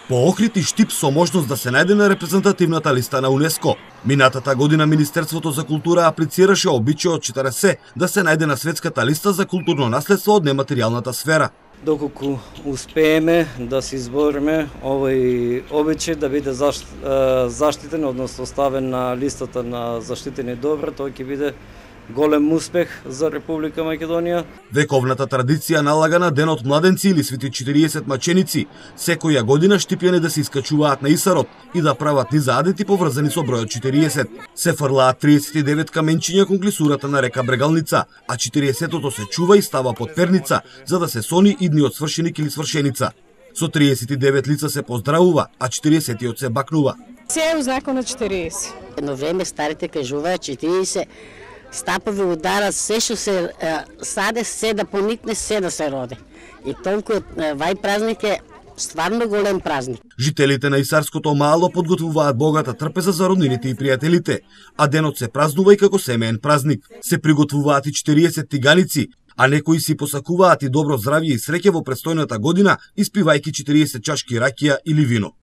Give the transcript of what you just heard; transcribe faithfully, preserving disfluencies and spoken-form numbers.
По Охрид и Штип со можност да се најде на репрезентативната листа на УНЕСКО. Минатата година Министерството за култура аплицираше обичајот четириесет да се најде на светската листа за културно наследство од нематеријалната сфера. Доколку успееме да се избориме овој обичај да биде заштитен, односно ставен на листата на заштитени добра, тоа ќе биде голем успех за Република Македонија. Вековната традиција налага на Денот младенци или Свети четириесет маченици секоја година штипјани да се искачуваат на Исарот и да прават низа адети поврзани со бројот четириесет. Се фрлаат триесет и девет каменчиња кон клисурата на река Брегалница, а четириесетото се чува и става под перница за да се сони идниот свршеник или свршеница. Со триесет и девет лица се поздравува, а четириесетиот се бакнува. Се е узнако на четириесет. Едно време старите кажуваат четириесет стапови удара, се што се саде, се да поникне, се да се роде. И толку вај празник е стварно голем празник. Жителите на Исарското мало подготвуваат богата трпеза за роднините и пријателите, а денот се празнува и како семеен празник. Се приготвуваат и четириесет тиганици, а некои си посакуваат и добро здравје и среќа во престојната година, испивајќи четириесет чашки ракија или вино.